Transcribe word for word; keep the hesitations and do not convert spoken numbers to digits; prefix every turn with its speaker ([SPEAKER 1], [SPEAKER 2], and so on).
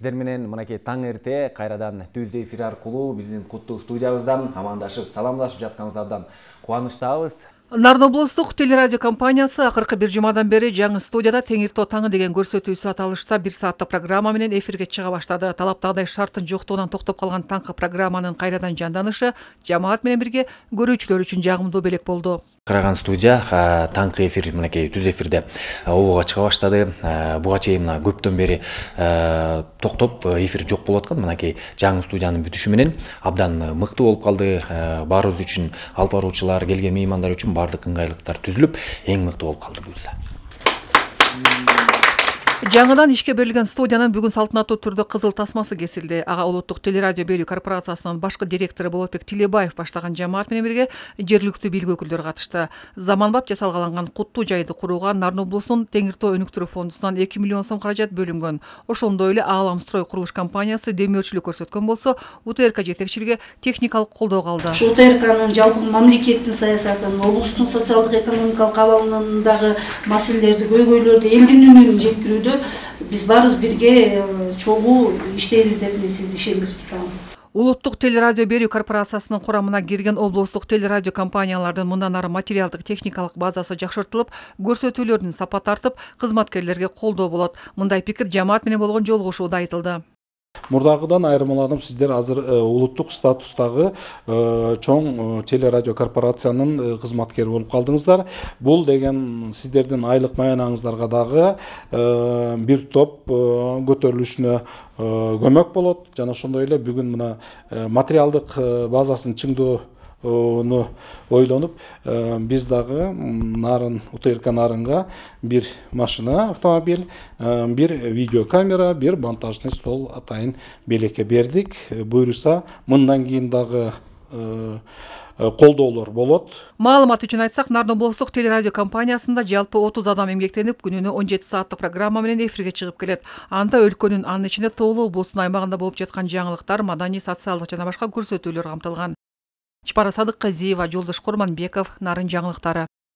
[SPEAKER 1] Сиздер менен мынакей таң эрте кайрадан түз эфир аркылуу биздин куттуу студиябыздан амандашып, саламдашып жатканыбыздан кубанычтабыз.
[SPEAKER 2] Нарын облустук телерадио компаниясы акыркы бир жумадан бери жаңы студияда Теңиртоо таңы деген көрсөтүүсү аталышта бир сааттык программа менен эфирге чыга баштады. Талаптагыдай шарттын жоктугунан токтоп калган таңкы программанын кайрадан жанданышы жамаат менен бирге көрүүчүлөр үчүн жагымдуу белек болду.
[SPEAKER 1] Караган студия таңкы эфир мынакей түз эфирде обого чыга баштады. Буга чейин мына көптөн бери токтоп эфир жок болуп аткан. Мынакей жаңы студиянын бүтүшү менен абдан мыкты болуп калды. Баарыбыз үчүн, алып баруучулар, келген меймандар үчүн баардык ыңгайлыктар түзүлүп, эң мыкты болуп калды буюрса.
[SPEAKER 2] Жаңыдан ишке берилген студиянын бүгүн салтанаттуу түрдө кызыл тасмасы кесилди. Ага улуттук телерадио берүү корпорациясынын башкы директору Болотбек Тилебаев баштаган жамаат менен бирге жергиликтүү бийлик өкүлдөрү катышты. Заманбап жасалгаланган куттуу жайды курууга Нарын облусунун Теңиртоо өнүктүрүү фондунан эки миллион сом каражат бөлүнгөн. Ошондой эле Ааlam строй курулуш компаниясы демөөрчүлүк көрсөткөн болсо, УТРК жетекчилиги техникалык колдоо калды.
[SPEAKER 3] УТРКнын жалпы мамлекеттин саясатын, облустун социалдык экономикалык абалындагы маселелерди, көйгөйлөрдү элдин үнүн жеткирүүдө биз баарыбыз бирге чогуу иштейбиз деп мен сизди ишендиртем.
[SPEAKER 2] Улуттук телерадио берүү корпорациясынын курамына кирген облустук телерадио компаниялардын мындан ары материалдык техникалык базасы жакшыртылып, көрсөтүүлөрдүн сапаты артып, кызматкерлерге колдоо болот. Мындай пикир жамаат менен болгон жолугушууда айтылды.
[SPEAKER 4] Мурдагыдан айырмаланып, сиздер азыр улуттук статустагы чоң телерадио корпорациянын кызматкери болуп калдыңыздар. Бул деген сиздердин айлык маянаңыздарга дагы бир топ көтөрүлүшүнө көмөк болот. Жана ошондой эле бүгүн мына материалдык базасын чыңдоо onu ойлонуп, биз дагы Нарын УТРК Нарынга бир машина, автомобиль, бир видеокамера, бир монтажный стол атайын белекке бердик. Буюрса, мындан кийин дагы колдоолор болот.
[SPEAKER 2] Маалымат үчүн айтсак, Нарын облустук телерадио компаниясында жалпы отуз адам эмгектенип, күнүнө он жети сааттык программа менен эфирге чыгып келет. Анда өлкөнүн, анын ичинде Тоолуу облусунун аймагында болуп жаткан жаңылыктар, маданий, социалдык жана башка көрсөтүүлөр камтылган. Чапара Садыкказиева, Жолдош Курманбеков, Нарын жаңылыктары.